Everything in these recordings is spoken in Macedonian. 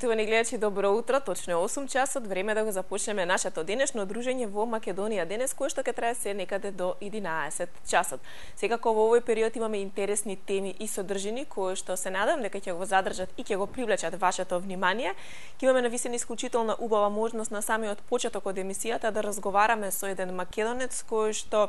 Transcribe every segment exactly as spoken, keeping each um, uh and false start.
Почитувани гледачи, добро утро. Точно е осум часот, време да го започнеме нашето денешно дружење во Македонија денес, кое што ќе трае се некаде до единаесет часот. Секако во овој период имаме интересни теми и содржини кои што се надам дека ќе го задржат и ќе го привлечат вашето внимание. Ќе имаме навистина исклучителна убава можност на самиот почеток од емисијата да разговараме со еден македонец кој што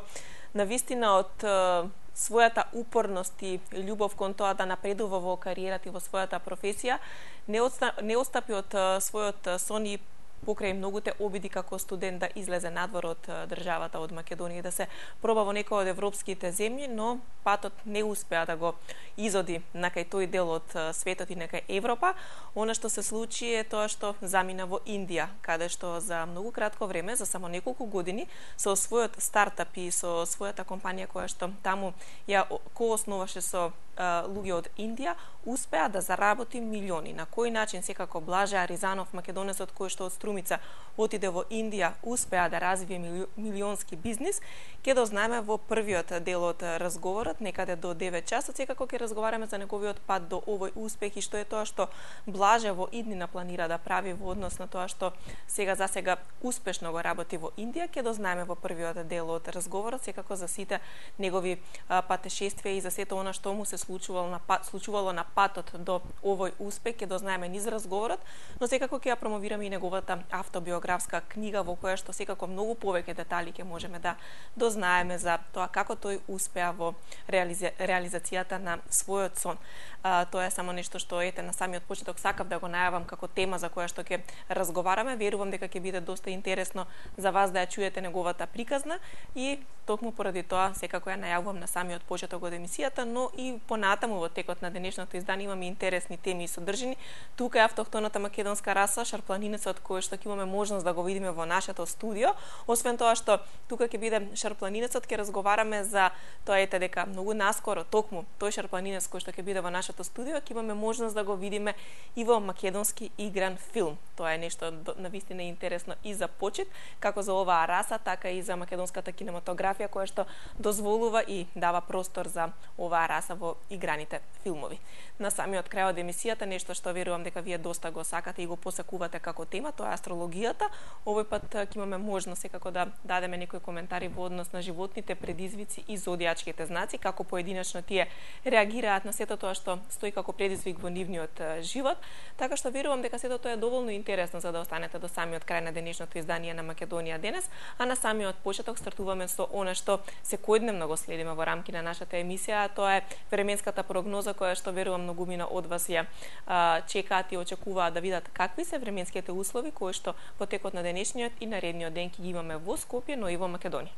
навистина од својата упорност и љубов кон тоа да напредува во кариерата и во својата професија, не, отста, не отстапи од својот сон и покрај многуте обиди како студент да излезе надвор од државата од Македонија и да се проба во некој од европските земји, но патот не успеа да го изоди на кај тој дел од светот и на кај Европа. Она што се случи е тоа што замина во Индија, каде што за многу кратко време, за само неколку години, со својот стартап и со својата компанија која што таму ја коосноваше со луѓе од Индија, успеа да заработи милиони. На кој начин секако Блаже Аризанов, македонецот кој што од Струмица отиде во Индија, успеа да развие милионски бизнис, ќе дознаеме во првиот дел од разговорот, некаде до девет часот. Секако ќе разговараме за неговиот пат до овој успех и што е тоа што Блаже во иднина планира да прави во однос на тоа што сега за сега успешно го работи во Индија. Ќе дознаеме во првиот дел од разговорот, секако за сите негови патешествија и за сето она што му се случувало на пат, случувало на патот до овој успех, ќе дознаеме низ разговорот, но секако ќе ја промовираме и неговата автобиографска книга во која што секако многу повеќе детали ќе можеме да дознаеме за тоа како тој успеа во реализи... реализацијата на својот сон. А, тоа е само нешто што ете на самиот почеток сакав да го најавам како тема за која што ќе разговараме. Верувам дека ќе биде доста интересно за вас да ја чуете неговата приказна и токму поради тоа секако ја најавувам на самиот почеток од емисијата, но и понатаму во текот на денешното издание имаме интересни теми и содржини. Тука е автохтоната македонска раса, шарпланинецот кој што ќе имаме можност да го видиме во нашето студио. Освен тоа што тука ќе биде шарпланинецот, ќе разговараме за тоа ете дека многу наскоро токму тој шарпланинец кој што ќе биде во нашето студио, ќе имаме можност да го видиме и во македонски игран филм. Тоа е нешто навистина интересно и за почит, како за оваа раса, така и за македонската кинематографија која што дозволува и дава простор за оваа раса во играните филмови. На самиот крај од емисијата, нешто што верувам дека вие доста го сакате и го посакувате како тема, тоа е астрологијата. Овој пат ќе имаме можност секако да дадеме некои коментари во однос на животните предизвици и зодијачките знаци, како поединечно тие реагираат на сето тоа што стои како предизвик во нивниот живот. Така што верувам дека сето тоа е доволно интересно за да останете до самиот крај на денешното издание на Македонија денес, а на самиот почеток стартуваме со она што секојдневно го следиме во рамки на нашата емисија, тоа е временската прогноза која што верувам многумина од вас ја а, чекаат и очекуваат да видат какви се временските услови кои што во текот на денешниот и наредниот ден ќе ги имаме во Скопје, но и во Македонија.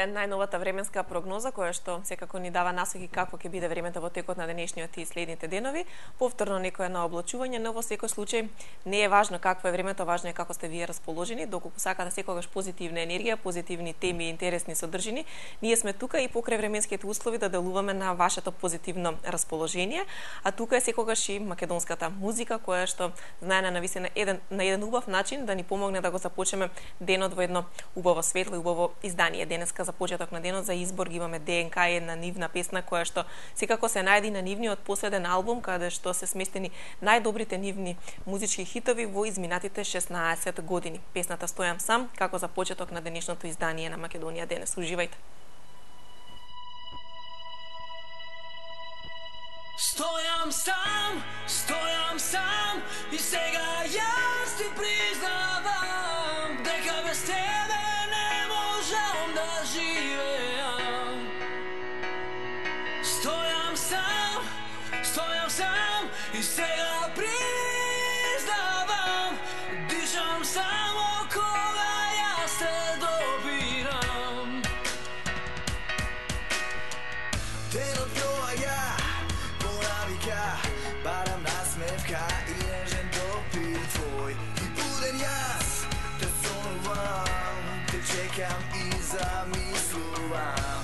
е најновата временска прогноза која што секако ни дава насоки како ќе биде времето во текот на денешниот и следните денови. Повторно некое на облачување, но во секој случај не е важно какво е времето, важно е како сте вие расположени, доколку сакате секогаш позитивна енергија, позитивни теми и интересни содржини. Ние сме тука и покрај временските услови да делуваме на вашето позитивно расположение, а тука е секогаш и македонската музика која што знае на навистина еден на еден убав начин да ни помогне да го започнеме денот во едно убаво светло и убаво издание. Денеска за почеток на денот за избор ги имаме ДНК, една нивна песна која што секако се најди на нивниот последен албум каде што се сместени најдобрите нивни музички хитови во изминатите шеснаесет години. Песната Стојам сам како за почеток на денешното издание на Македонија денес. Уживајте. Стојам сам, стојам сам и сега јас ти признавам дека без тебе не можам да живеам. Стојам сам, стојам сам и сега признавам дишам само кога јас те добирам. Денот доаѓа, понавика, барам насмевка и нежен допир твој. И буден јас те сонувам, те чекам и замислувам.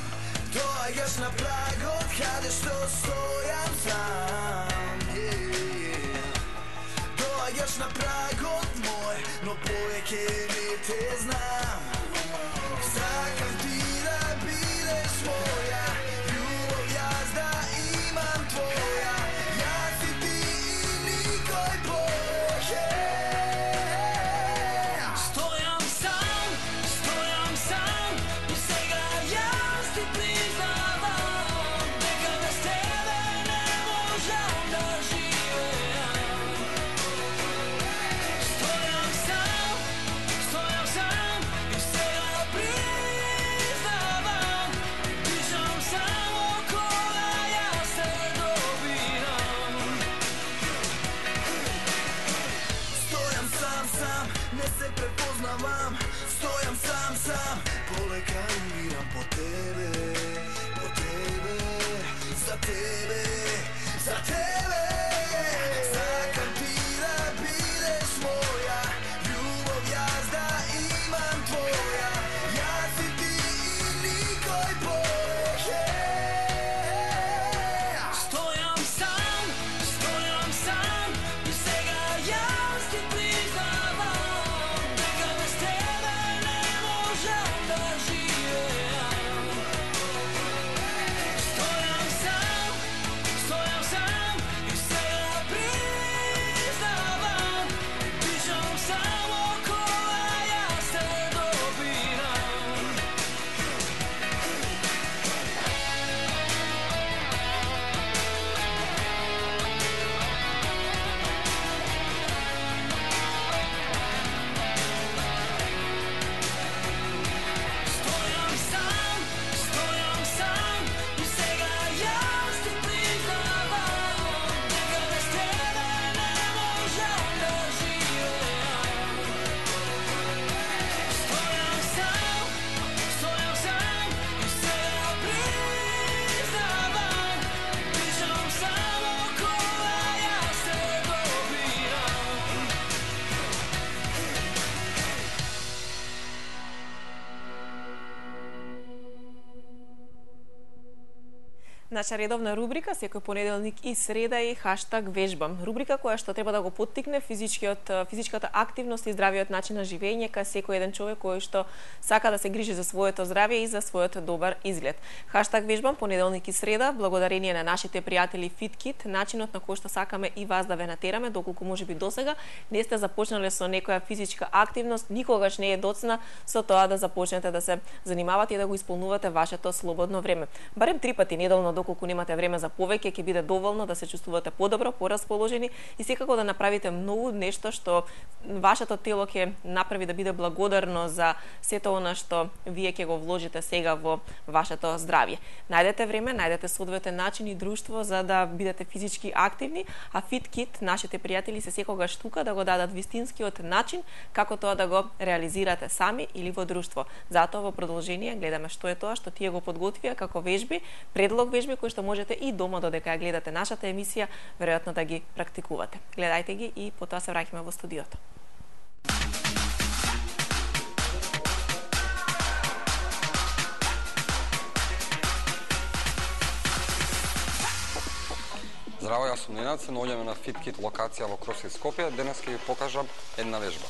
Доаѓаш на прагот каде што стојам сам, yeah. Доаѓаш на прагот мој, но повеќе не те знам. Сакам ти да бидеш моја, љубов јас да имам твоја, јас и ти и никој повеќе. Стојам сам, стојам сам и сега јас ти признавам дека без тебе не можам да живеам. Стојам сам, стојам сам и сега признавам дишам само кога јас те добирам. Стојам сам сам, не се препознавам. Стојам сам сам, полека умирам по тебе, по тебе, за тебе, за тебе. Сакам ти да бидеш моја, љубов јас да имам твоја, јас и ти и никој повеќе. Стојам сам, стојам сам и сега јас ти признавам дека без тебе не можам да живеам. Стојам сам, стојам сам и сега признавам дишам само кога јас те добирам. Стојам сам, стојам сам и сега јас ти признавам дека без тебе не можам да живеам. Стојам сам, стојам сам и сега признавам дишам само кога јас те добирам. Наша редовна рубрика секој понеделник и среда е хаштаг вежбам. Рубрика која што треба да го поттикне физичкиот физичката активност и здравиот начин на живење кај секој еден човек кој што сака да се грижи за своето здравје и за својот добар изглед. Хаштаг вежбам понеделник и среда, благодарение на нашите пријатели FitKit, начинот на кој што сакаме и вас да ве натераме, доколку можеби досега не сте започнале со некоја физичка активност, никогаш не е доцна со тоа да започнете да се занимавате и да го исполнувате вашето слободно време. Барем три пати неделно доколку немате време за повеќе, ќе биде доволно да се чувствувате подобро, порасположени и секако да направите многу нешто што вашето тело ќе направи да биде благодарно за сето она што вие ќе го вложите сега во вашето здравје. Најдете време, најдете соодветен начин и друштво за да бидете физички активни, а FitKit, нашите пријатели се секогаш тука да го дадат вистинскиот начин како тоа да го реализирате сами или во друштво. Затоа во продолжение гледаме што е тоа што тие го подготвија како вежби, предлог вежби кои што можете и дома додека ја гледате нашата емисија, веројатно да ги практикувате. Гледајте ги и потоа се враќаме во студиото. Здраво, јас сум Ненад, се наоѓаме на FitKit локација во Кросфит Скопје. Денес ќе ви покажам една вежба.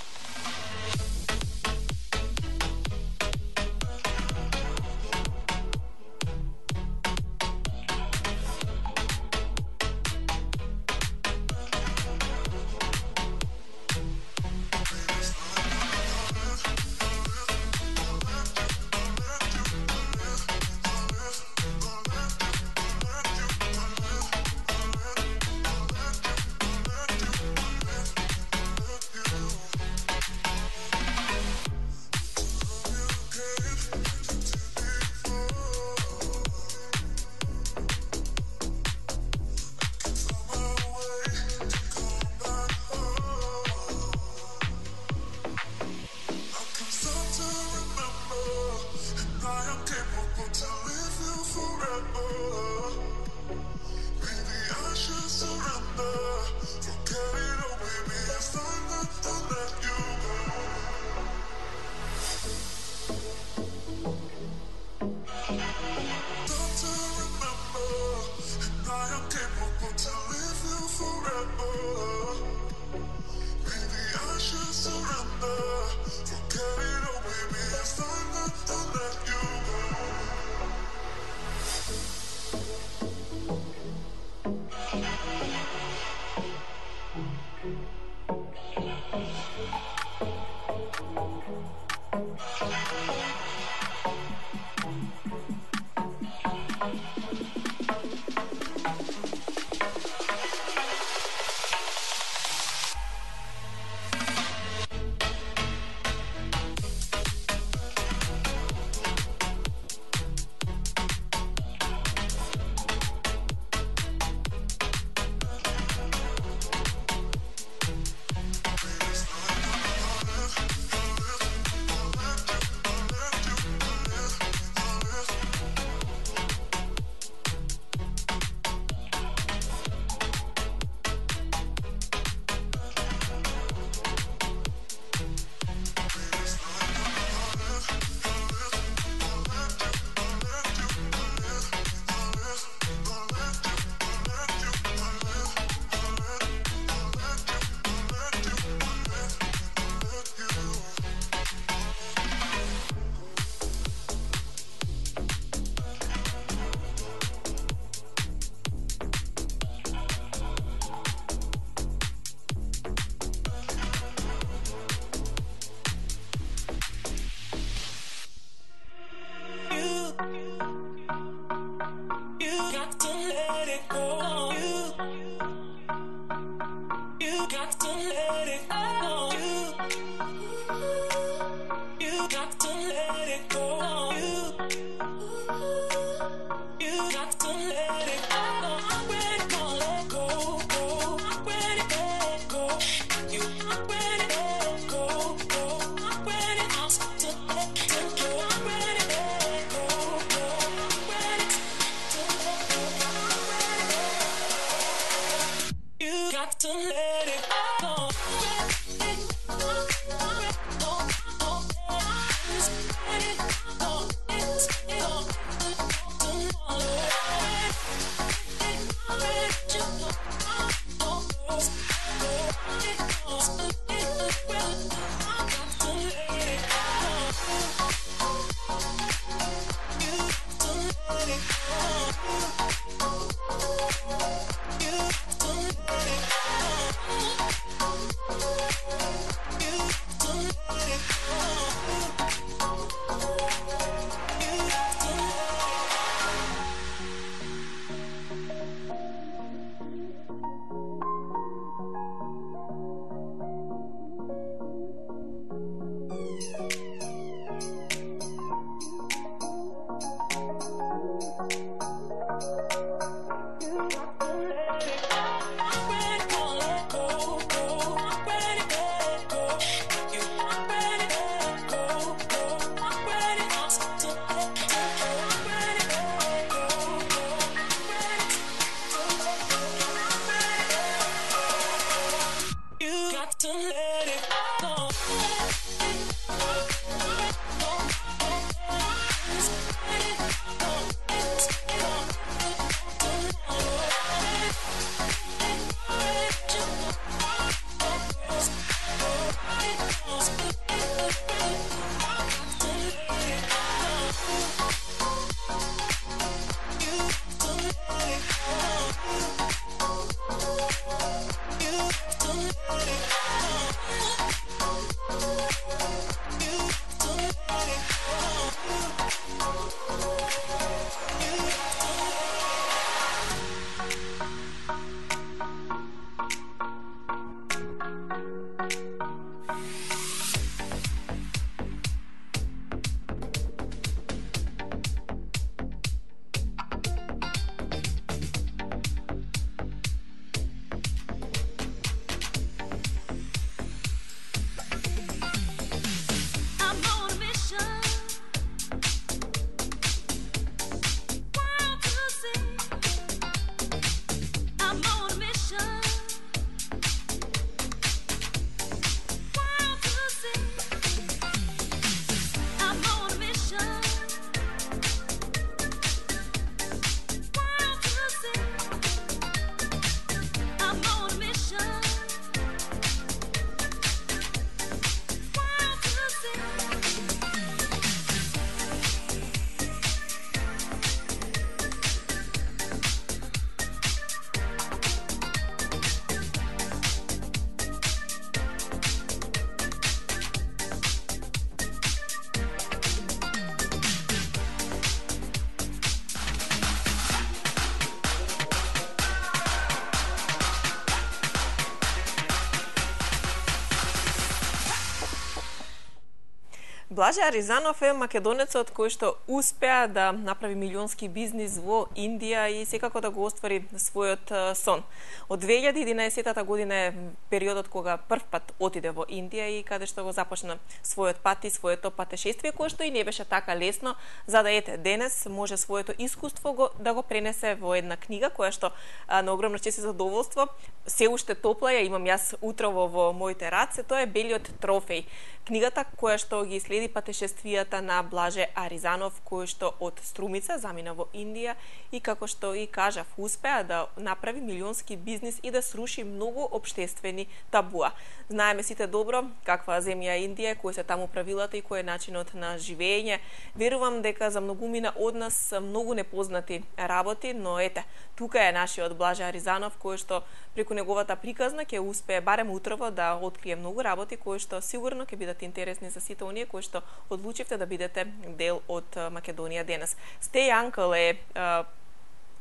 Блаже Аризанов е македонецот кој што успеа да направи милионски бизнис во Индија и секако да го оствари својот сон. Од две илјади и единаесетта година е периодот кога првпат отиде во Индија и каде што го започна својот пат и своето патешествие, кое што и не беше така лесно, за да ете денес може своето искуство го, да го пренесе во една книга која што а, на огромно чест и задоволство се уште топла ја имам јас утрово во моите раце, тоа е Белиот трофеј. Книгата која што ги следи патешествијата на Блаже Аризанов, кој што од Струмица замина во Индија и како што и кажав, успеа да направи милионски бизнис и да сруши многу општествени табуа. Знаеме сите добро каква земја е Индија, кои се таму правилата и кој е начинот на живење. Верувам дека за многумина од нас се многу непознати работи, но ете, тука е нашиот Блаже Аризанов, кој што преку неговата приказна ќе успее барем утрово да открие многу работи кои што сигурно ќе бидат интересни за сите оние кои што одлучивте да бидете дел од Македонија денес. Stay Uncle е а,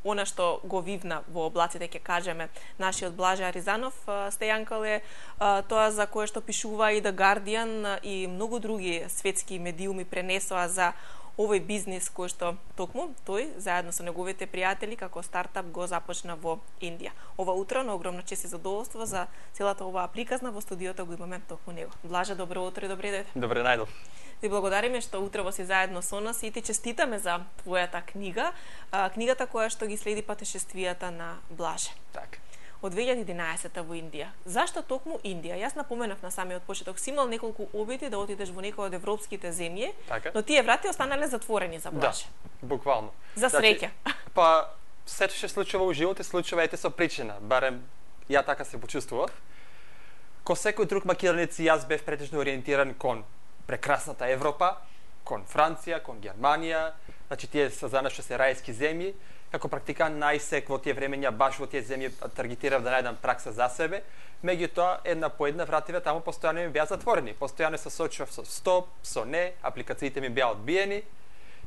она што го вивна во облаците, ќе кажеме, нашиот Блаже Аризанов. Stay Uncle е а, тоа за кое што пишува и The Guardian и многу други светски медиуми пренесоа за овој бизнис кој што токму тој заедно со неговите пријатели како стартап го започна во Индија. Ова утро на огромна чест и задоволство за целата оваа приказна во студиото го имаме токму него. Блаже, добро утро и добре дојде. Добре најдов. Ти благодариме што утрово си заедно со нас и ти честитаме за твојата книга, а, книгата која што ги следи патешествијата на Блаже. Така. Од две илјади и единаесетта во Индија. Зашто токму Индија? Јас напоменав на самиот почеток, си имал неколку обиди да отидеш во некој од европските земји, Така. но тие врати останале затворени за Блаже. Да, буквално. За среќа. Значи, па, сето што случува во живот и случува ете со причина. Барем ја така се почувствував. Ко секој друг македонец јас бев претежно ориентиран кон прекрасната Европа, кон Франција, кон Германија, значи тие се за нас што се рајски земји. Како практикант најсек во тие времења баш во тие земји таргетирав да најдам пракса за себе. Меѓутоа една по една вративе таму постојано ми беа затворени. Постојано се сочував со стоп, со не, апликациите ми беа одбиени.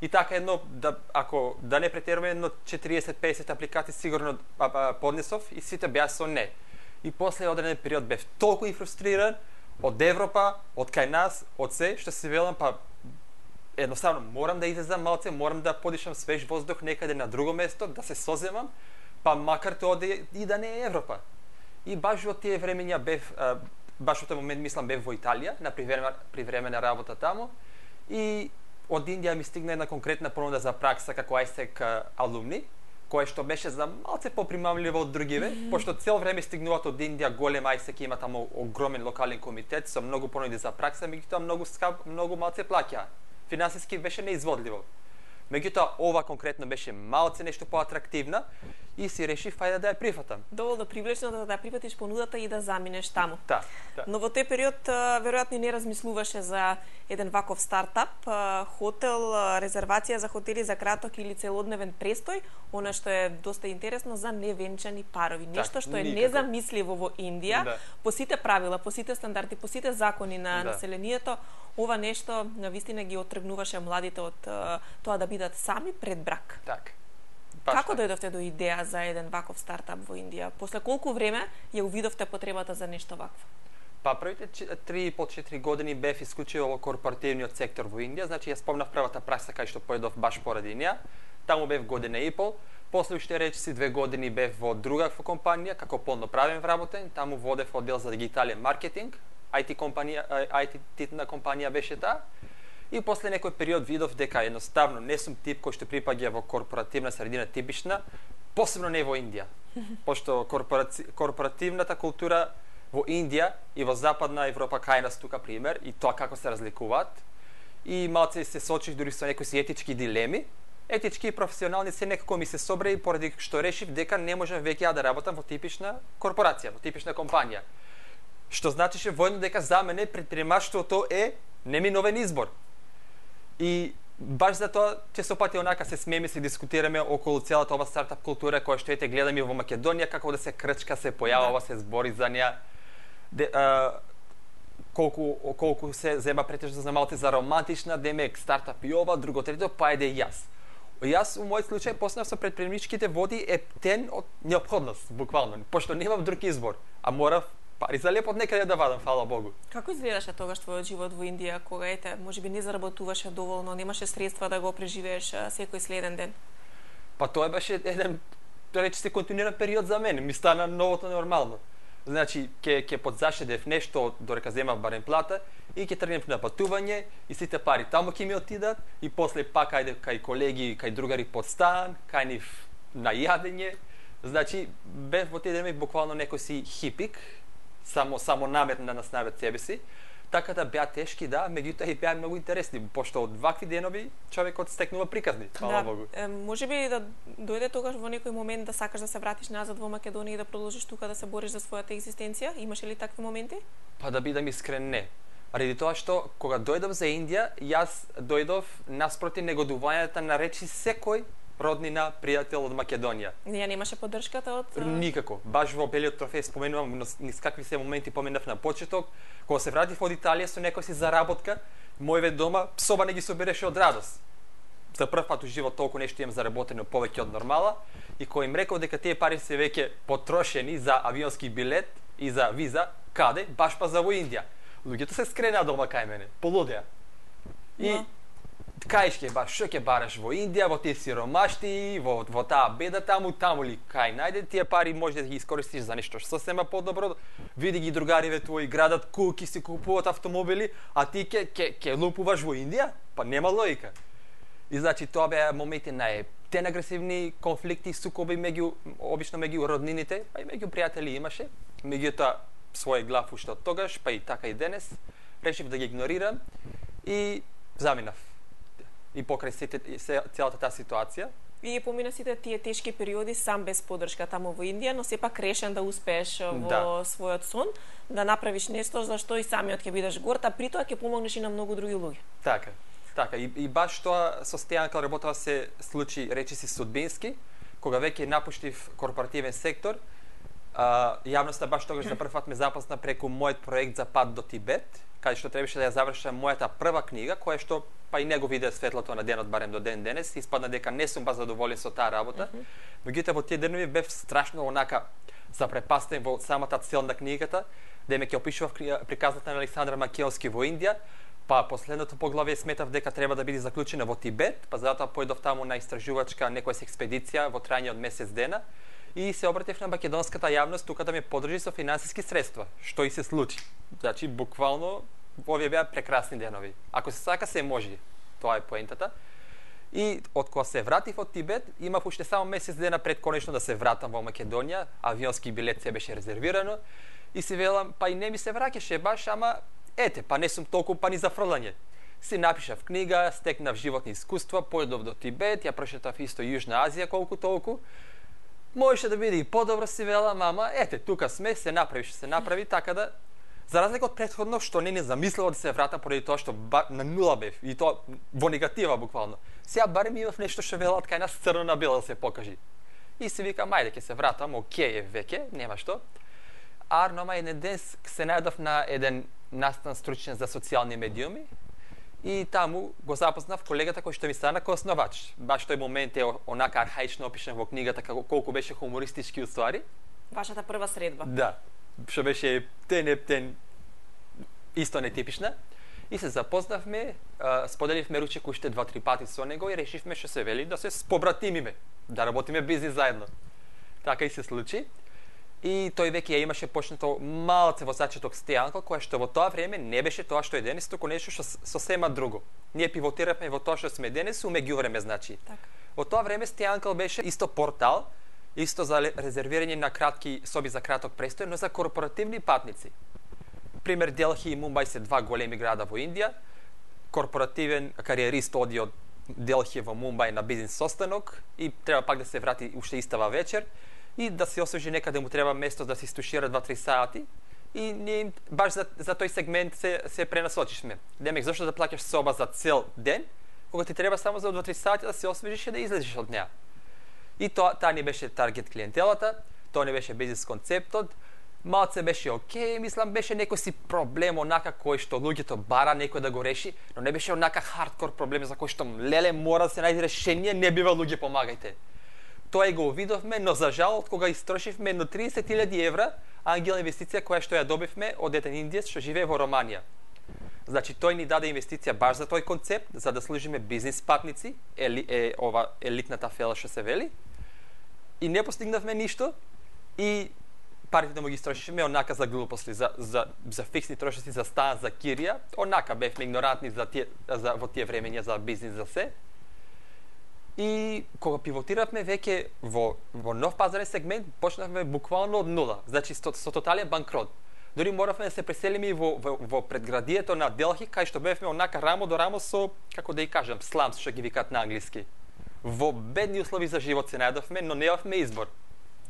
И така едно да ако да не претеруваме едно четириесет до песет апликации сигурно а, а, поднесов и сите беа со не. И после одреден период бев толку и фрустриран од Европа, од кај нас, од се што се велам па едноставно морам да излезам малце, морам да подишам свеж воздух некаде на друго место, да се соземам, па макар тоа да и да не е Европа. И баш во тие времења бев, баш во тој момент мислам бев во Италија, на привремена, привремена работа таму, и од Индија ми стигна една конкретна понуда за пракса како ајсек алумни, кое што беше за малце попримамливо од другиве, mm-hmm. пошто цел време стигнуваат од Индија голем ајсек, има таму огромен локален комитет со многу понуди за пракса, меѓутоа многу скап, многу малце плаќаа. Финансиски беше неизводливо. Меѓутоа, ова конкретно беше малце нешто поатрактивна и си решив ајде да ја прифатам. Доволно привлечно да ја прифатиш понудата и да заминеш таму. Да, да. Но во тој период веројатно и не размислуваше за еден ваков стартап, хотел, резервација за хотели за краток или целодневен престој, она што е доста интересно за невенчани парови. Нешто што е никако. незамисливо во Индија, Да. по сите правила, по сите стандарди, по сите закони на Да. населението, ова нешто навистина ги отргнуваше младите од тоа да бидат сами пред брак. Так. Како дојдовте до идеја за еден ваков стартап во Индија? После колку време ја увидовте потребата за нешто вакво? Па првите три и пол до четири години бев исклучиво во корпоративниот сектор во Индија, значи ја спомнав првата пракса кај што појдов баш поради неа. Таму бев година и пол. После уште речиси две години бев во друга компанија како полноправен вработен, таму водев оддел за дигитален маркетинг, ај ти компанија, ај ти-на компанија беше таа. И после некој период видов дека едноставно не сум тип кој што припаѓа во корпоративна средина типична, посебно не во Индија. Пошто корпораци... корпоративната култура во Индија и во Западна Европа кај нас тука пример и тоа како се разликуваат. И малце се сочив дури со некои си етички дилеми. Етички и професионални се некако ми се собра и поради што решив дека не можам веќе да работам во типична корпорација, во типична компанија. Што значише воедно дека за мене предприемаштвото е неминовен избор. И баш за тоа често пати онака се смееме, се дискутираме околу целата ова стартап култура која што ете гледаме во Македонија, како да се крчка, се појавува, се збори за неа. Де, а, колку колку се зема претежно за малце за романтична, демек стартап и ова, друго трето, па еде и јас. Јас во мојот случај почнав со предприемничките води ептен од неопходност, буквално, пошто немав друг избор, а морав пари за лепот некаде да вадам, фала Богу. Како изгледаше тогаш твојот живот во Индија, кога ете, можеби не заработуваше доволно, немаше средства да го преживееш а, секој следен ден? Па тоа беше еден, да рече се, континуиран период за мене, ми стана новото нормално. Значи, ќе ќе подзашедев нешто додека земав барем плата и ќе тргнев на патување и сите пари таму ќе ми отидат и после пак ајде кај колеги, кај другари под стан, кај нив на јадење. Значи, бев во тие денови буквално некој си хипик, само само наметен да наснавет себе си. Така да беа тешки, да, меѓутоа и беа многу интересни, пошто од вакви денови човекот стекнува приказни, фала Да, Богу. е, можеби да дојде тогаш во некој момент да сакаш да се вратиш назад во Македонија и да продолжиш тука да се бориш за својата екзистенција? Имаше ли такви моменти? Па да бидам искрен, не. Ради тоа што кога дојдов за Индија, јас дојдов наспроти негодувањата на речи секој роднина, пријател од Македонија. Ја немаше поддршката од а, Никако. Баш во белиот трофеј споменувам низ какви се моменти поминав на почеток, кога се вратив од Италија со некој си заработка, мојве дома соба не ги собираше од радост. За прв пат у живот толку нешто имам заработено повеќе од нормала и кој им рекол дека тие пари се веќе потрошени за авионски билет и за виза, каде? Баш па за во Индија. Луѓето се скренаа дома кај мене, полудеа. И Но. кај ќе баш, што ќе бараш во Индија, во тие сиромашти, во, во таа беда таму, таму ли кај најде тие пари може да ги искористиш за нешто сосема подобро. Види ги другариве твои градат куки, си купуваат автомобили, а ти ќе ќе ќе лупуваш во Индија? Па нема логика. И значи тоа беа моменти на птен агресивни конфликти, сукоби меѓу обично меѓу роднините, па и меѓу пријатели имаше. Меѓутоа свој глав уште од тогаш, па и така и денес, решив да ги игнорирам и заминав. И покрај сите, се, целата таа ситуација. И помина сите тие тешки периоди сам без поддршка таму во Индија, но сепак решен да успееш во Да. својот сон, да направиш нешто за што и самиот ќе бидеш горд, а при тоа ќе помогнеш и на многу други луѓе. Така, така. И, и баш тоа состојано кога работава се случи, речи си, судбински, кога веќе напуштив корпоративен сектор. А, јавноста баш тогаш за прв пат ме запозна преку мојот проект за пат до Тибет, каде што требаше да ја завршам мојата прва книга, која што па и него виде светлото на денот барем до ден денес, испадна дека не сум баш задоволен со таа работа. Mm -hmm. Меѓутоа во тие денови бев страшно онака запрепастен во самата цел на книгата, да ме ќе опишував приказната на Александар Македонски во Индија, па последното поглавје сметав дека треба да биде заклучена во Тибет, па затоа појдов таму на истражувачка некоја експедиција во трајање од месец дена и се обратив на македонската јавност тука да ме поддржи со финансиски средства, што и се случи. Значи буквално овие беа прекрасни денови. Ако се сака се може. Тоа е поентата. И од кога се вратив од Тибет, имав уште само месец дена пред конечно да се вратам во Македонија, авионски билет се беше резервирано и си велам, па и не ми се враќаше баш, ама ете, па не сум толку па ни за фрлање. Си напишав книга, стекнав животни искуства, појдов до Тибет, ја прошетав исто Јужна Азија колку толку. Можеше да биде и подобро, си велам, ама ете, тука сме, се направи, што се направи, така да за разлика од претходно што не не замислила да се вратам поради тоа што ба, на нула бев и тоа во негатива буквално. Сега барем имав нешто што велат кај нас црно на бело да се покажи. И си викам, ајде ќе се вратам, окей е веќе, нема што. А нома еден ден се најдов на еден настан стручен за социјални медиуми и таму го запознав колегата кој што ми стана коосновач. Баш тој момент е онака архаично опишен во книгата како колку беше хумористички уствари. Вашата прва средба. Да, што беше тен ептен исто нетипична. И се запознавме, а, споделивме ручек уште два-три пати со него и решивме што се вели да се спобратимиме, да работиме бизнис заедно. Така и се случи. И тој веќе ја имаше почнато малце во зачеток Стејанко, која што во тоа време не беше тоа што е денес, туку нешто што сосема друго. Ние пивотиравме во тоа што сме денес, у меѓувреме, значи. Така. Во тоа време Стејанко беше исто портал, исто за резервирање на кратки соби за краток престој, но за корпоративни патници. Пример, Делхи и Мумбај се два големи града во Индија. Корпоративен кариерист оди од Делхи во Мумбај на бизнис состанок и треба пак да се врати уште истава вечер и да се освежи некаде му треба место да се стушира два-три сати и ние баш за, за тој сегмент се, се пренасочишме. Демек, зашто да плаќаш соба за цел ден, кога ти треба само за два-три сати да се освежиш и да излезеш од неа. И тоа, таа не беше таргет клиентелата, тоа не беше бизнис концептот, малце беше окей, мислам, беше некој си проблем онака кој што луѓето бара некој да го реши, но не беше онака хардкор проблем за кој што леле мора да се најде решение, не бива луѓе помагајте. тоа и го увидовме, но за жал од кога истрошивме едно триесет илјади евра ангел инвестиција која што ја добивме од еден индиец што живее во Романија. Значи тој ни даде инвестиција баш за тој концепт, за да служиме бизнис партници, ели, е ова елитната фела што се вели. И не постигнавме ништо и парите да му ги истрошиме онака за глупости, за за за фиксни трошоци за стан, за кирија, онака бевме игнорантни за тие за во тие времења за бизнис за се. И кога пивотиравме веќе во во нов пазарен сегмент, почнавме буквално од нула. Значи со, со тотален банкрот. Дори моравме да се преселиме во, во, во предградието на Делхи, кај што бевме онака рамо до рамо со, како да и кажам, сламс, што ги викаат на англиски. Во бедни услови за живот се најдовме, но немавме избор.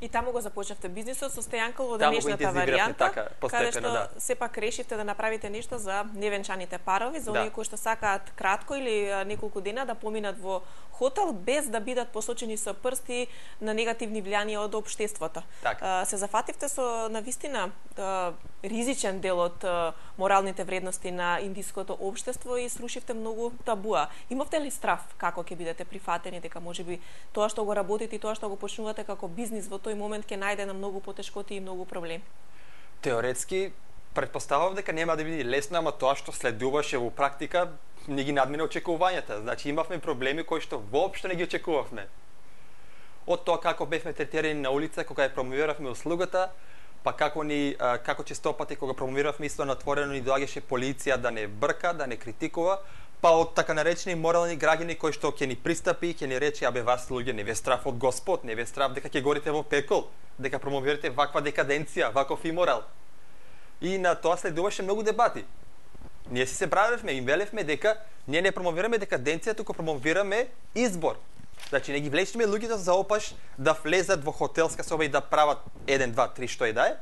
И таму го започнавте бизнисот со Стејанкол во Таму го денешната интензивиравме, варијанта, така, каде постепено, што да. сепак решивте да направите нешто за невенчаните парови, за Да. оние кои што сакаат кратко или а, неколку дена да поминат во хотел без да бидат посочени со прсти на негативни влијанија од општеството. Така. А, се зафативте со навистина а, ризичен дел од а, моралните вредности на индиското општество и срушивте многу табуа. Имавте ли страв како ќе бидете прифатени, дека можеби тоа што го работите и тоа што го почнувате како бизнис во тој момент ќе најде на многу потешкоти и многу проблеми? Теоретски претпоставав дека нема да биде лесно, ама тоа што следуваше во практика не ги надмина очекувањата. Значи имавме проблеми кои што воопшто не ги очекувавме. Од тоа како бевме третирани на улица кога ја промовиравме услугата, па како ни а, како често пати кога промовиравме исто на отворено ни доаѓаше полиција да не брка, да не критикува, па од така наречени морални граѓани кои што ќе ни пристапи, ќе ни рече: "Абе вас луѓе, не ве страв од Господ, не ве страв дека ќе горите во пекол, дека промовирате ваква декаденција, ваков иморал." И на тоа следуваше многу дебати. Ние си се бравевме и велевме дека ние не промовираме декаденција, туку промовираме избор. Значи не ги влечиме луѓето за опаш да влезат во хотелска соба и да прават еден, два, три што и да е,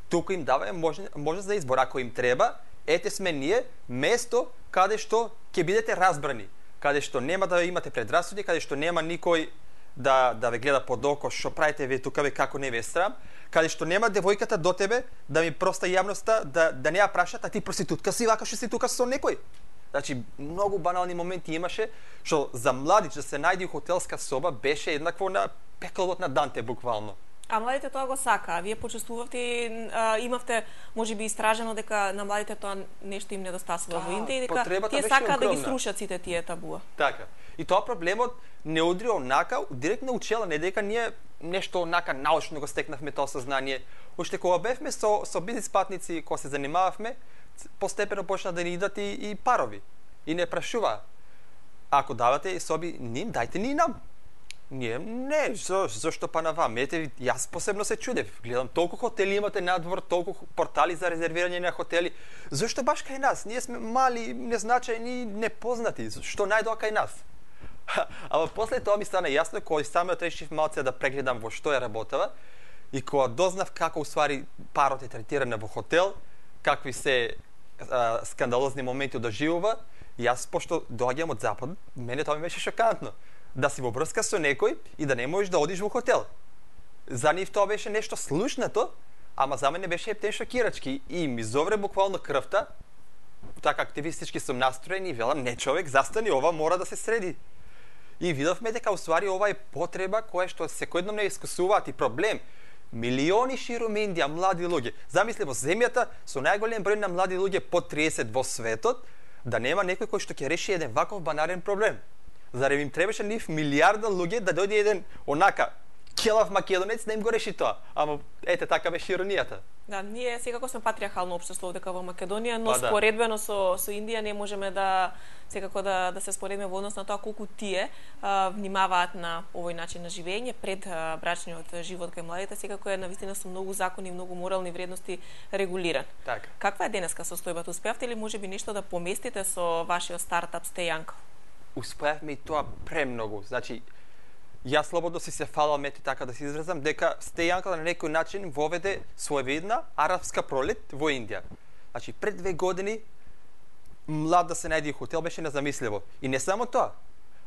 туку им даваме можност можност за избор. Ако им треба, ете сме ние место каде што ќе бидете разбрани, каде што нема да имате предрасуди, каде што нема никој да да ве гледа под око што правите вие тука, ве како не ве срам, каде што нема девојката до тебе да ми проста јавноста да да не ја прашат: "А ти проститутка си, вака што си тука со некој?" Значи многу банални моменти имаше што за младич да се најде во хотелска соба беше еднакво на пеколот на Данте буквално. А младите тоа го сака. Вие почувствувавте, а, имавте можеби истражено дека на младите тоа нешто им недостасува во Индија и дека потребата тие беше сакаат да ги огромна. срушат сите тие табуа. Така. И тоа проблемот не удри онака, директно учела, не дека ние нешто онака научно го стекнавме тоа сознание. Уште кога бевме со со бизнис партници, кога се занимававме, постепено почна да ни идат и, и парови. И не прашува: "Ако давате соби ним, дајте ни нам." Ние не, за, зашто па на вам? Ете, јас посебно се чудев. Гледам толку хотели имате надвор, толку портали за резервирање на хотели. Зашто баш кај нас? Ние сме мали, незначајни, непознати. Што најдоа кај нас? Ама после тоа ми стана јасно кога самиот решив малце да прегледам во што е работава и кога дознав како уствари парот е третиран во хотел, какви се а, скандалозни моменти доживува, јас пошто доаѓам од запад, мене тоа ми беше шокантно. Да си во врска со некој и да не можеш да одиш во хотел. За нив тоа беше нешто слушнато, ама за мене беше ептен шокирачки и ми зовре буквално крвта. Така активистички сум настроен и велам: "Не, човек, застани, ова мора да се среди." И видовме дека уствари ова е потреба која што секојдневно искусуваат и проблем. Милиони широм Индија млади луѓе. Замисли во земјата со најголем број на млади луѓе под триесет во светот, да нема некој кој што ќе реши еден ваков банарен проблем. Зарем им требаше нив милиарда луѓе да дојде еден онака келав македонец да им го реши тоа. Ама ете така беше иронијата. Да, ние секако сме патриархално општество дека во Македонија, но Па да. споредбено со со Индија не можеме да секако да да се споредиме во однос на тоа колку тие а, внимаваат на овој начин на живење пред а, брачниот живот кај младите, секако е навистина со многу закони, многу морални вредности регулиран. Така. Каква е денеска состојбата? Успеавте ли можеби нешто да поместите со вашиот стартап Стејанкол? Успеавме и тоа премногу. Значи, јас слободно си се фалам, ете така да се изразам, дека Стејанкол на некој начин воведе своевидна арапска пролет во Индија. Значи, пред две години млад да се најде хотел беше незамисливо. И не само тоа.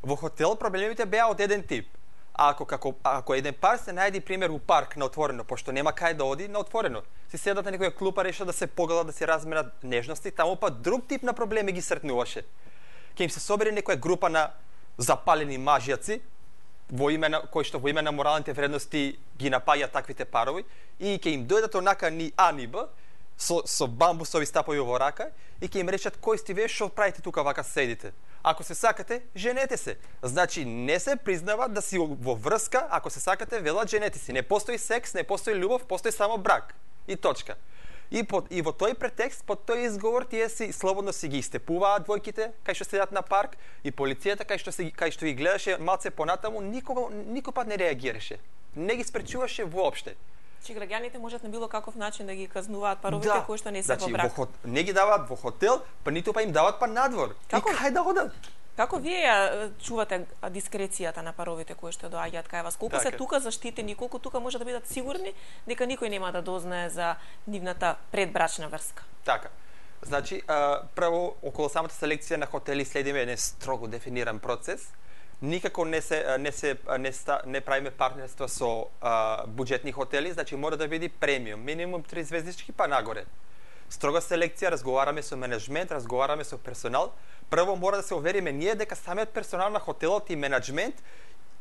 Во хотел проблемите беа од еден тип. А ако како ако еден пар се најде пример у парк на отворено, пошто нема кај да оди на отворено, си седат на некоја клупа, решат да се погледат, да се разменат нежности, таму па друг тип на проблеми ги сретнуваше. Ке им се собере некоја група на запалени мажјаци, во име на кои што во име на моралните вредности ги напаѓаат таквите парови и ќе им дојдат онака ни А ни Б со со бамбусови стапови во рака и ќе им речат кој сте вие, што правите тука вака седите. Ако се сакате, женете се. Значи не се признава да си во врска, ако се сакате, велат женете си. Не постои секс, не постои љубов, постои само брак. И точка. И, под, и во тој претекст, под тој изговор, тие си слободно си ги истепуваат двојките, кај што седат на парк, и полицијата кај што се кај што ги гледаше малце понатаму, никога никој пат не реагираше. Не ги спречуваше воопште. Че граѓаните можат на било каков начин да ги казнуваат паровите Да. кои што не се Значи, во брак. во хот... не ги даваат во хотел, па ниту па им даваат па надвор. Како? И кај да одат? Како вие ја чувате дискрецијата на паровите кои што доаѓаат кај вас? Колку Така се е. тука заштитени, колку тука може да бидат сигурни дека никој нема да дознае за нивната предбрачна врска? Така. Значи, а, прво, околу самата селекција на хотели следиме еден строго дефиниран процес. Никако не се не се не, ста, не правиме партнерство со а, буџетни хотели, значи мора да биде премиум, минимум три звездички па нагоре. Строга селекција, разговараме со менеджмент, разговараме со персонал. Прво мора да се увериме ние дека самиот персонал на хотелот и менеджмент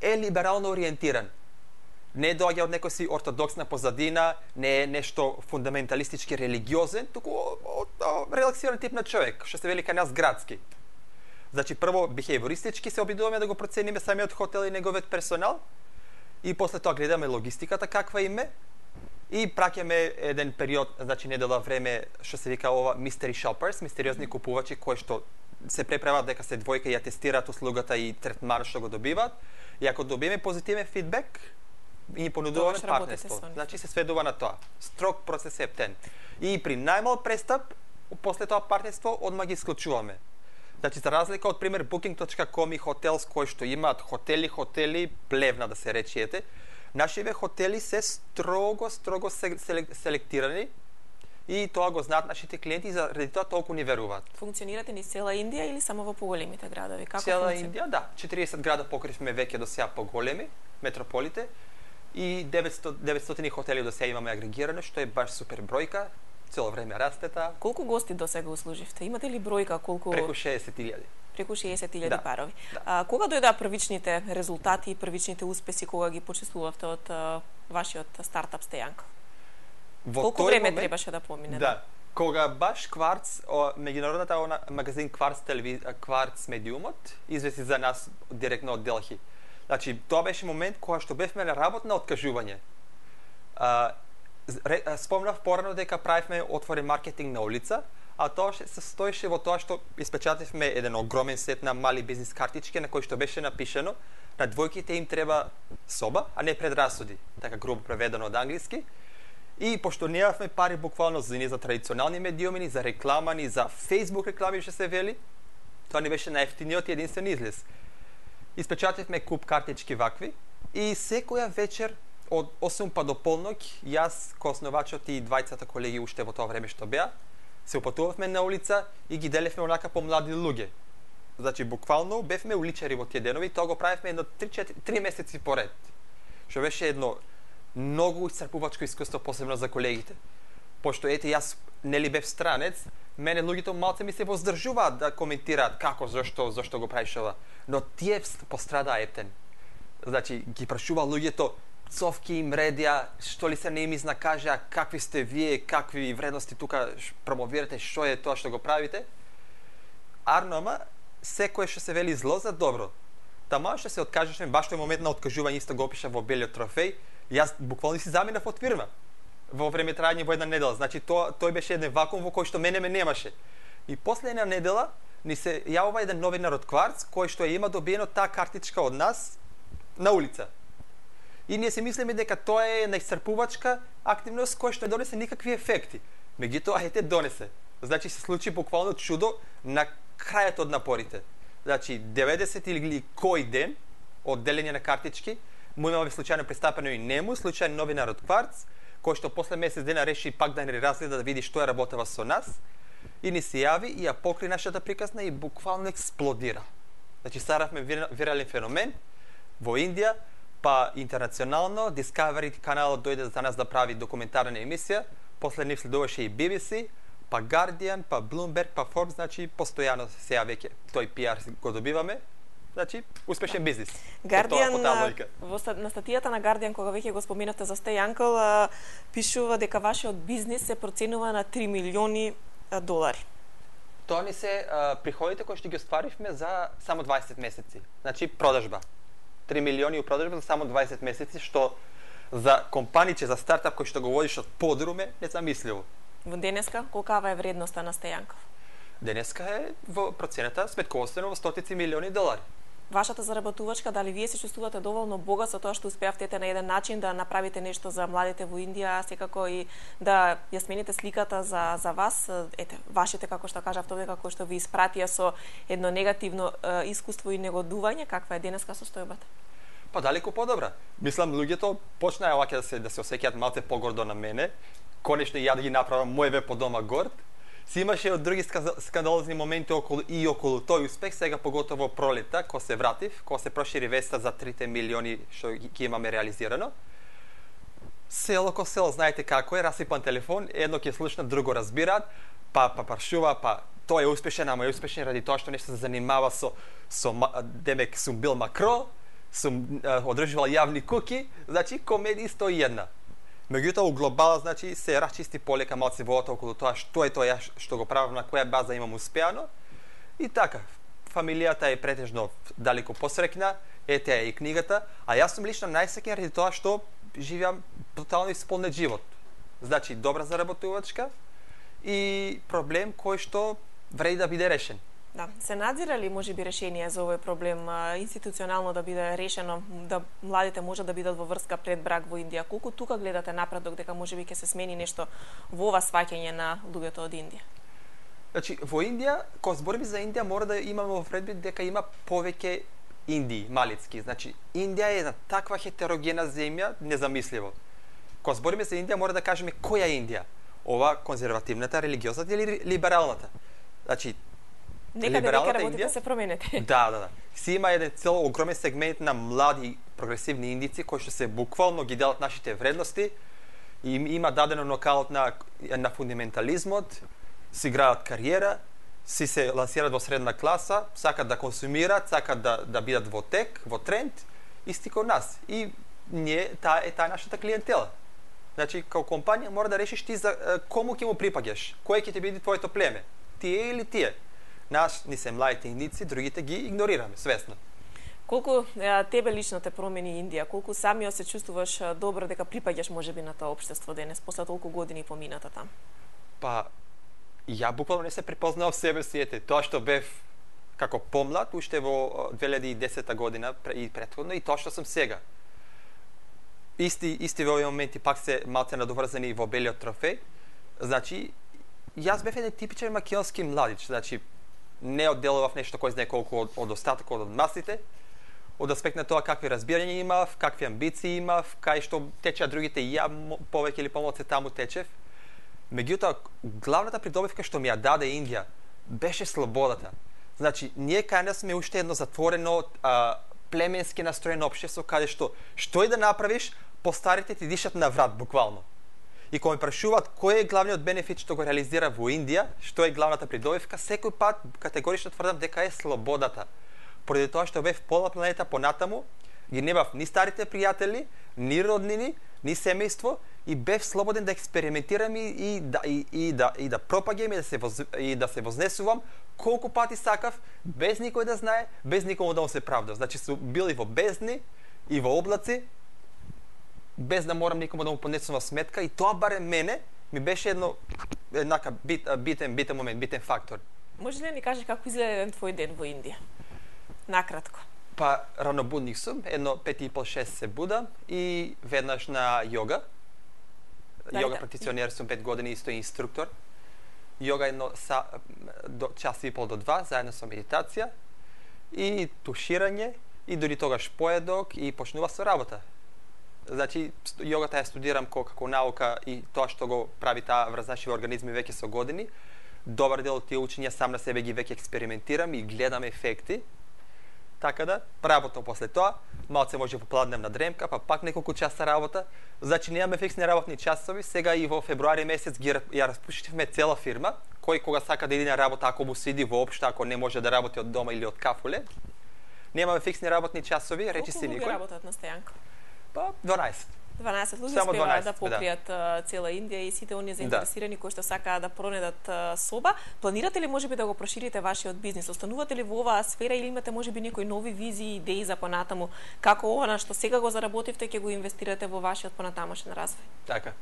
е либерално ориентиран. Не доаѓа од некој си ортодоксна позадина, не е нешто фундаменталистички религиозен, туку од, од релаксиран тип на човек, што се вели кај нас градски. Значи прво бихејвористички се обидуваме да го процениме самиот хотел и неговиот персонал и после тоа гледаме логистиката каква име и праќаме еден период, значи недела време што се вика ова mystery shoppers, мистериозни купувачи кои што се преправат дека се двојка и ја тестираат услугата и третманот што го добиваат и ако добиеме позитивен фидбек и ни понудуваме Тогаш работите партнерство. со нив. Значи се сведува на тоа. Строг процес е ептен. И при најмал престап после тоа партнерство одма ги исклучуваме. Значи, за разлика од пример booking точка com и Hotels кои што имаат хотели, хотели, плевна да се речете, нашиве хотели се строго, строго селектирани и тоа го знаат нашите клиенти и заради тоа толку ни веруваат. Функционирате низ цела Индија или само во поголемите градови? Како Цела функци- Индија, да. четириесет града покривме веќе до сега поголеми, метрополите, и деветстотини деветстотини хотели до сега имаме агрегирано, што е баш супер бројка, цело време расте таа, Колку гости до сега услуживте? Имате ли бројка колку преку шеесет илјади. преку шеесет илјади Да, парови? да. А, кога дојдоа првичните резултати и првичните успеси кога ги почувствувавте од а, вашиот стартап Стејанко? Во Колку тој време момент- требаше да помине? Да. Кога баш Кварц, о, меѓународната она, магазин Кварц телевиз, Кварц медиумот, извести за нас директно од Делхи. Значи, тоа беше момент кога што бевме на работа на откажување. А, ре, а, спомнав порано дека правевме отворен маркетинг на улица, а тоа се состоеше во тоа што испечативме еден огромен сет на мали бизнис картички на кои што беше напишано на двојките им треба соба, а не предрасуди, така грубо преведено од англиски. И пошто немавме пари буквално за ни за традиционални медиуми, ни за реклама, ни за Facebook реклами што се вели, тоа ни беше најефтиниот и единствен излез. Испечативме куп картички вакви и секоја вечер од осум па до полнок, јас, коосновачот и двајцата колеги уште во тоа време што беа, се упатувавме на улица и ги делевме онака по млади луѓе. Значи, буквално бевме уличари во тие денови, тоа го правевме едно три месеци поред. Што беше едно многу исцрпувачко искуство, посебно за колегите. Пошто ете јас нели бев странец, мене луѓето малце ми се воздржуваат да коментираат како, зашто, зашто го правиш ова. Но тие пострадаа ептен. Значи, ги прашува луѓето, цовки им редија, што ли се не им изнакажа, какви сте вие, какви вредности тука промовирате, што е тоа што го правите. Арно, ама, секое што се вели зло за добро. Тама што се откажешме, баш тој момент на откажување исто го опиша во белиот трофеј, јас буквално си заминав од фирма во време трајање во една недела. Значи тоа тој беше еден вакуум во кој што мене ме немаше. И после една недела ни се јавува еден новинар од Кварц кој што ја има добиено таа картичка од нас на улица. И ние се мислиме дека тоа е најисцрпувачка активност која што не донесе никакви ефекти. Меѓутоа ете донесе. Значи се случи буквално чудо на крајот од напорите. Значи деветдесет или кој ден од делење на картички, му имаме случајно пристапено и нему, случајен новинар од Кварц, кој што после месец дена реши пак да не разгледа да види што е работева со нас, и ни се јави и ја покри нашата приказна и буквално експлодира. Значи стававме вирален феномен во Индија, па интернационално, Discovery каналот дојде за нас да прави документарна емисија, после нив следуваше и Би Би Си, па Guardian, па Bloomberg, па Forbes, значи постојано сега веќе тој пиар го добиваме Значи, успешен бизнис. Guardian, По таа логика. во ста- на статијата на Guardian, кога веќе го споминавте за Stay Uncle, а, пишува дека вашиот бизнис се проценува на три милиони а, долари. Тоа ни се а, приходите кои што ги остваривме за само дваесет месеци. Значи, продажба. три милиони у продажба за само дваесет месеци, што за компаније, за стартап кој што го водиш од подруме, незамисливо. Во денеска, колкава е вредноста на Stay Uncle? Денеска е во процената сметковостено во стотици милиони долари. Вашата заработувачка, дали вие се чувствувате доволно богат со тоа што успеавте на еден начин да направите нешто за младите во Индија, а секако и да ја смените сликата за за вас, ете, вашите, како што кажавте овде, како што ви испратија со едно негативно е, искуство и негодување, каква е денеска состојбата? Па далеку подобра. Мислам, луѓето почнаа ваќе да се да се осеќаат малце погордо на мене. Конечно и ја да ги направам мој веб по дома горд. Си имаше од други скандалозни моменти околу и околу тој успех, сега поготово пролета, кога се вратив, кога се прошири веста за трите милиони што ги имаме реализирано. Село ко село, знаете како е, расипан телефон, едно ќе слушнат, друго разбираат, па па паршува, па тој е успешен, ама е успешен ради тоа што нешто се занимава со со демек сум бил макро, сум одржувал јавни куки, значи комедија сто и една. Меѓутоа, у глобала, значи, се расчисти полека малце водата околу тоа што е тоа што го правам, на која база имам успеано. И така, фамилијата е претежно далеку посрекна, ете е и книгата, а јас сум лично најсреќен ради тоа што живеам тотално исполнет живот. Значи, добра заработувачка и проблем кој што вреди да биде решен. Да, се надзира ли можеби решение за овој проблем а, институционално да биде решено, да младите можат да бидат во врска пред брак во Индија? Колку тука гледате напредок дека можеби ќе се смени нешто во ова сваќање на луѓето од Индија? Значи, во Индија, кога збориме за Индија, мора да имаме во предвид дека има повеќе Индии, малицки. Значи, Индија е една таква хетерогена земја, незамисливо. Кога збориме за Индија, мора да кажеме која е Индија? Ова конзервативната, религиозната или либералната? Значи, Некаде веќе работите се променете. Да, да, да. Си има еден цел огромен сегмент на млади прогресивни индици кои што се буквално ги делат нашите вредности и има дадено нокаут на на фундаментализмот, си играат кариера, си се лансираат во средна класа, сакат да консумираат, сакат да да бидат во тек, во тренд, исти како нас. И ние таа е таа нашата клиентела. Значи, како компанија мора да решиш ти за кому ќе му припаѓаш, кој ќе ти биде твоето племе, тие или тие. Нас ни се младите индици, другите ги игнорираме, свесно. Колку е, тебе лично те промени Индија? Колку самиот се чувствуваш е, добро дека припаѓаш можеби на тоа општество денес, после толку години помината там? Па, ја буквално не се препознав себе си, ете, тоа што бев како помлад, уште во две илјади и десета година и претходно, и тоа што сум сега. Исти, исти во овој моменти пак се малце надоврзани во белиот трофеј. Значи, јас бев еден типичен македонски младич, значи, не одделував нешто кој знае колку од, од остатокот од масите, од аспект на тоа какви разбирања имав, какви амбиции имав, кај што течеа другите и ја повеќе или помалку таму течев. Меѓутоа, главната придобивка што ми ја даде Индија беше слободата. Значи, ние кај нас сме уште едно затворено, а, племенски настроено општество, каде што што и да направиш, постарите ти дишат на врат буквално. И кога ме прашуваат кој е главниот бенефит што го реализира во Индија, што е главната придобивка, секој пат категорично тврдам дека е слободата. Поради тоа што бев пола планета понатаму, ги немав ни старите пријатели, ни роднини, ни семејство и бев слободен да експериментирам и, и да и, и да и да пропагам и да се воз, и да се вознесувам колку пати сакав, без никој да знае, без никому да му се правда. Значи сум бил и во бездни и во облаци, без да морам никому да му поднесувам сметка, и тоа барем мене ми беше едно еднака бит, битен битен момент, битен фактор. Може ли да ни кажеш како изгледа еден твој ден во Индија? Накратко. Па ранобудник сум, едно пет и пол шест се будам и веднаш на јога. Да, Јога да. практиционер сум пет години, исто инструктор. Јога едно са, до час и пол до два, заедно со медитација и туширање и дури тогаш поедок и почнува со работа. Значи, јогата ја студирам како, како наука и тоа што го прави таа врз нашиве организми веќе со години. Добар дел од тие учења сам на себе ги веќе експериментирам и гледам ефекти. Така да, работам после тоа, малце може попладнем на дремка, па пак неколку часа работа. Значи, немаме фиксни работни часови. Сега и во февруари месец ги ја распуштивме цела фирма, кој кога сака да иде на работа, ако му се иди воопшто, ако не може да работи од дома или од кафуле, Немаме фиксни работни часови, речи си Колку луѓе никој. работат на стојанка? Па дванаесет. дванаесет луѓе Само успеваат дванаесет, да покријат да. цела Индија и сите оние заинтересирани да. кои што сакаат да пронедат а, соба. Планирате ли можеби да го проширите вашиот бизнис? Останувате ли во оваа сфера или имате можеби некои нови визии, идеи за понатаму? Како ова на што сега го заработивте ќе го инвестирате во вашиот понатамошен развој? Така.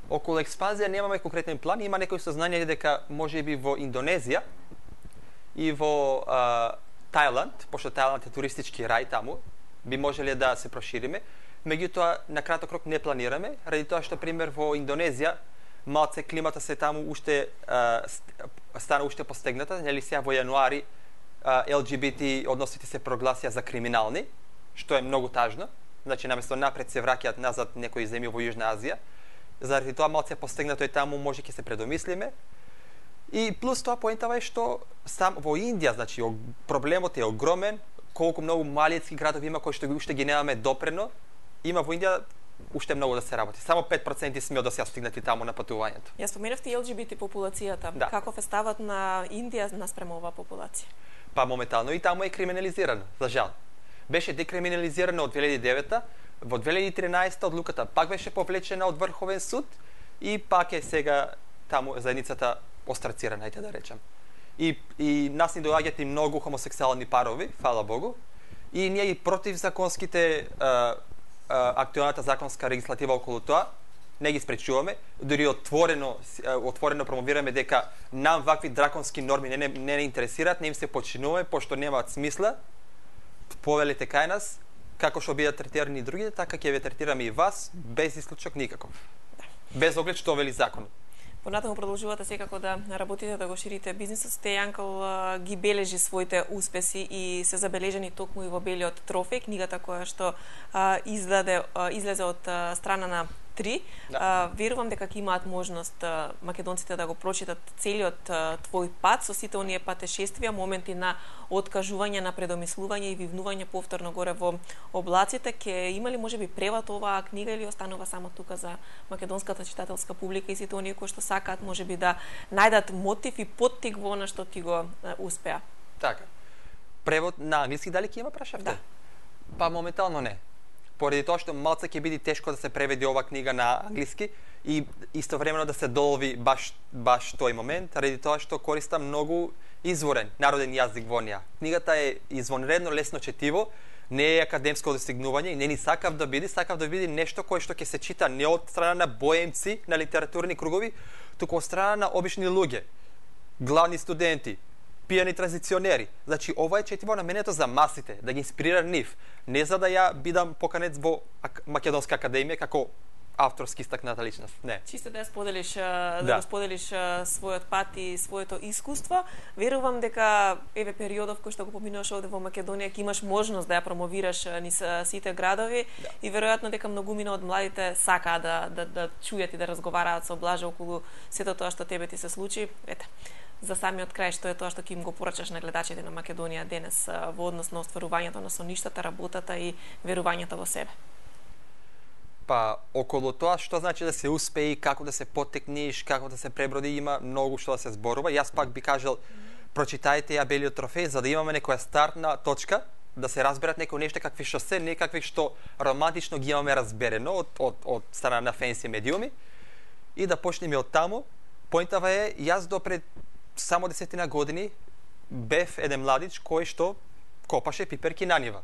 Околу експанзија немаме конкретен план, има некои сознание дека можеби во Индонезија и во а, Тајланд, пошто Тајланд е туристички рај таму, би можеле да се прошириме. Меѓутоа, на краток рок не планираме, ради тоа што, пример, во Индонезија, малце климата се таму уште а, стана уште постегната, нели сега во јануари а, Ел Џи Би Ти односите се прогласија за криминални, што е многу тажно. Значи, наместо напред се враќаат назад некои земји во Јужна Азија. Заради тоа малце постегнато е таму, може ќе се предомислиме. И плюс тоа поентава е што сам во Индија, значи, проблемот е огромен, колку многу малијски градови има кои што уште ги немаме допрено. Има во Индија уште многу да се работи. Само пет проценти сме да се стигнати таму на патувањето. Ја споменавте Ел Џи Би Ти популацијата. Да. Каков е ставот на Индија наспрема оваа популација? Па моментално и таму е криминализирано, за жал. Беше декриминализирано од две илјади и девета, во две илјади и тринаесета одлуката пак беше повлечена од Врховен суд и пак е сега таму заедницата острацирана, ајде да речем. И, и нас ни доаѓаат и многу хомосексуални парови, фала Богу, и ние и против законските а, а, актуелната законска легислатива околу тоа не ги спречуваме, дури отворено отворено промовираме дека нам вакви драконски норми не не, не, не интересираат, не им се подчинуваме пошто немаат смисла. Повелите кај нас, како што бидат третирани другите, така ќе ве третираме и вас, без исклучок никаков. Без оглед што вели законот. Понатаму продолжувате секако да работите, да го ширите бизнисот. Стејанкал ги бележи своите успеси и се забележени токму и во Белиот трофеј, книгата која што а, издаде, а, излезе од а, страна на три. Да. А, верувам дека ќе имаат можност а, македонците да го прочитат целиот а, твој пат со сите оние патешествија, моменти на откажување, на предомислување и вивнување повторно горе во облаците. Ќе има ли можеби превод оваа книга или останува само тука за македонската читателска публика и сите оние кои што сакаат можеби да најдат мотив и поттик во она што ти го а, успеа? Така. Превод на англиски дали ќе има, прашавте? Да. Па моментално не. Поради тоа што малце ќе биде тешко да се преведе ова книга на англиски и истовремено да се долови баш баш тој момент, ради тоа што користам многу изворен народен јазик во неа. Книгата е извонредно лесно четиво, не е академско достигнување и не ни сакав да биде, сакав да биде нешто кое што ќе се чита не од страна на боемци, на литературни кругови, туку од страна на обични луѓе, главни студенти, пијани транзиционери. Значи, ова е четиво наменето за масите, да ги инспирира нив. Не за да ја бидам поканец во Македонска академија како авторски истакната личност. Не. Чисто да ја споделиш, да, Да. го споделиш својот пат и своето искуство. Верувам дека еве периодов кој што го поминуваш овде во Македонија ќе имаш можност да ја промовираш низ сите градови Да. и веројатно дека многумина од младите сакаат да, да, да чујат и да разговараат со Блажа околу сето тоа што тебе ти се случи. Ете, за самиот крај, што е тоа што ќе им го порачаш на гледачите на Македонија денес во однос на остварувањето на соништата, работата и верувањето во себе? Па, околу тоа што значи да се успее, како да се поттекниш, како да се преброди, има многу што да се зборува. Јас пак би кажал, прочитајте ја Белиот трофеј, за да имаме некоја стартна точка, да се разберат некои нешта какви што се, не какви што романтично ги имаме разберено од, од, од страна на фенси медиуми, и да почнеме од таму. Поинтава е, јас допред само десетина години бев еден младич кој што копаше пиперки на нива.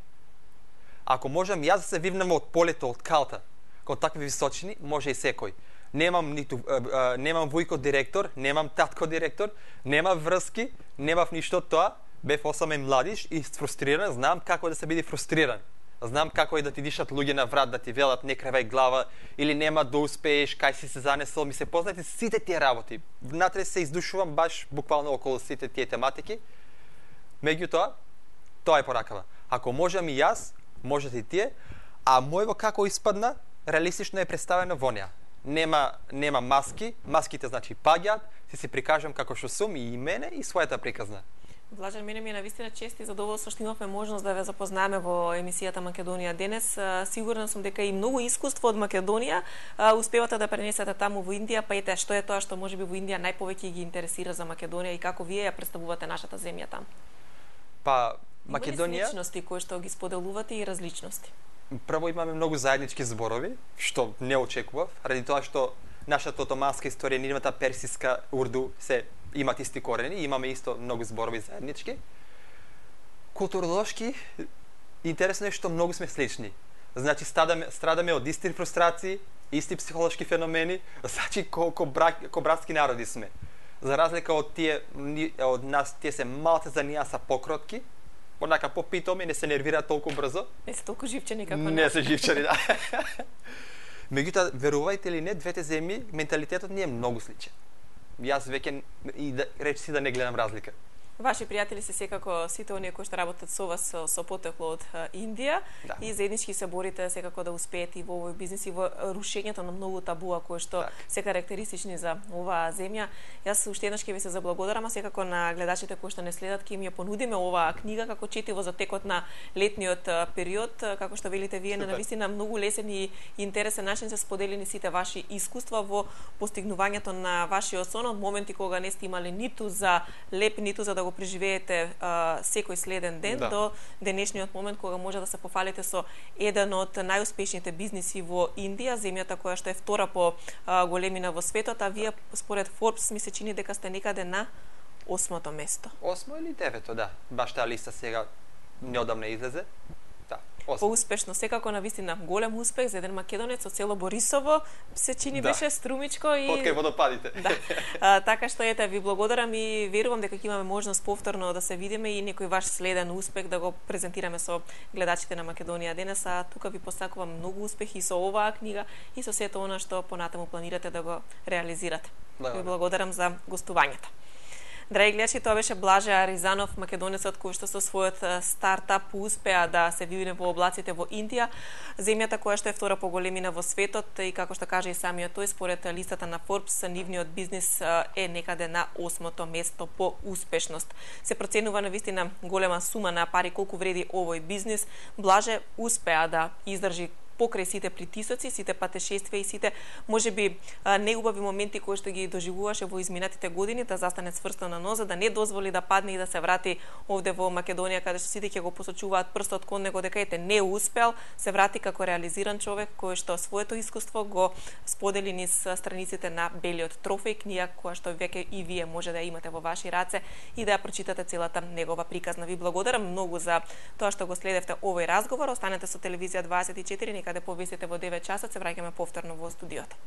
Ако можам јас да се вивнам од полето, од калта, кон такви височини, може и секој. Немам ниту а, а, немам вујко директор, немам татко директор, нема врски, немав ништо од тоа. Бев осамен младиш и фрустриран, знам како да се биде фрустриран. Знам како е да ти дишат луѓе на врат, да ти велат не кревај глава или нема да успееш, кај си се занесол, ми се познати сите тие работи. Внатре се издушувам баш буквално околу сите тие тематики. Меѓутоа, тоа е поракава. Ако можам и јас, можете и тие, а мојво како испадна, реалистично е представено во неа. Нема нема маски, маските значи паѓаат, си си прикажам како што сум и мене и својата приказна. Блажан, мене ми е навистина чест и задоволство што имавме можност да ве запознаеме во емисијата Македонија денес. Сигурна сум дека и многу искуство од Македонија успевате да пренесете таму во Индија, па ете што е тоа што можеби во Индија најповеќе ги интересира за Македонија и како вие ја представувате нашата земја таму. Па Македонија... Сличности кои што ги споделувате и различности? Прво имаме многу заеднички зборови, што не очекував, ради тоа што нашата отоманска историја, нивната персиска, урду, се имат исти корени, имаме исто многу зборови заеднички. Културолошки, интересно е што многу сме слични. Значи, страдаме, страдаме од исти фрустрации, исти психолошки феномени, значи, ко, ко, брак, ко братски народи сме. За разлика од тие, од нас, тие се малце за нијаса покротки, онака попитоми, не се нервираат толку брзо. Не се толку живчени како Не се живчени, да. Меѓутоа, верувајте или не, двете земји, менталитетот ни е многу сличен. Јас веќе и да речи си да не гледам разлика. Ваши пријатели се секако сите оние кои што работат со вас со, со потекло од Индија, да. И заеднички се борите секако да успеете и во овој бизнис и во рушењето на многу табуа кои што так. се карактеристични за оваа земја. Јас уште еднаш ќе ви се заблагодарам, а секако на гледачите кои што не следат ќе им ја понудиме оваа книга како четиво за текот на летниот период, како што велите вие, на навистина многу лесен и интересен начин се споделени сите ваши искуства во постигнувањето на вашиот сон од моменти кога не сте имале ниту за леп, ниту за да го преживеете а, секој следен ден да. до денешниот момент кога може да се пофалите со еден од најуспешните бизниси во Индија, земјата која што е втора по а, големина во светот, а вие според Forbes ми се чини дека сте некаде на осмото место. Осмо или девето, да. Баш таа листа сега неодамна излезе. Да. Поуспешно, секако на вистина голем успех за еден македонец од село Борисово, се чини да. беше струмичко и Од кај водопадите. Да. А, така што ете, ви благодарам и верувам дека ќе имаме можност повторно да се видиме и некој ваш следен успех да го презентираме со гледачите на Македонија денес, а тука ви посакувам многу успех и со оваа книга и со сето она што понатаму планирате да го реализирате. Ви благодарам за гостувањето. Драги гледачи, тоа беше Блаже Аризанов, македонецот кој што со својот стартап успеа да се види во облаците во Индија, земјата која што е втора по големина во светот и како што каже и самиот тој, според листата на Forbes, нивниот бизнис е некаде на осмото место по успешност. Се проценува на вистина голема сума на пари колку вреди овој бизнис. Блаже успеа да издржи покрај сите притисоци, сите патешествија и сите можеби неубави моменти кои што ги доживуваше во изминатите години, да застане цврсто на ноза, да не дозволи да падне и да се врати овде во Македонија, каде што сите ќе го посочуваат прстот кон него дека ете не успел, се врати како реализиран човек кој што своето искуство го сподели низ страниците на Белиот трофеј, книга која што веќе и вие може да имате во ваши раце и да ја прочитате целата негова приказна. Ви благодарам многу за тоа што го следевте овој разговор. Останете со телевизија дваесет и четири, каде повесите во девет часот, се враќаме повторно во студиото.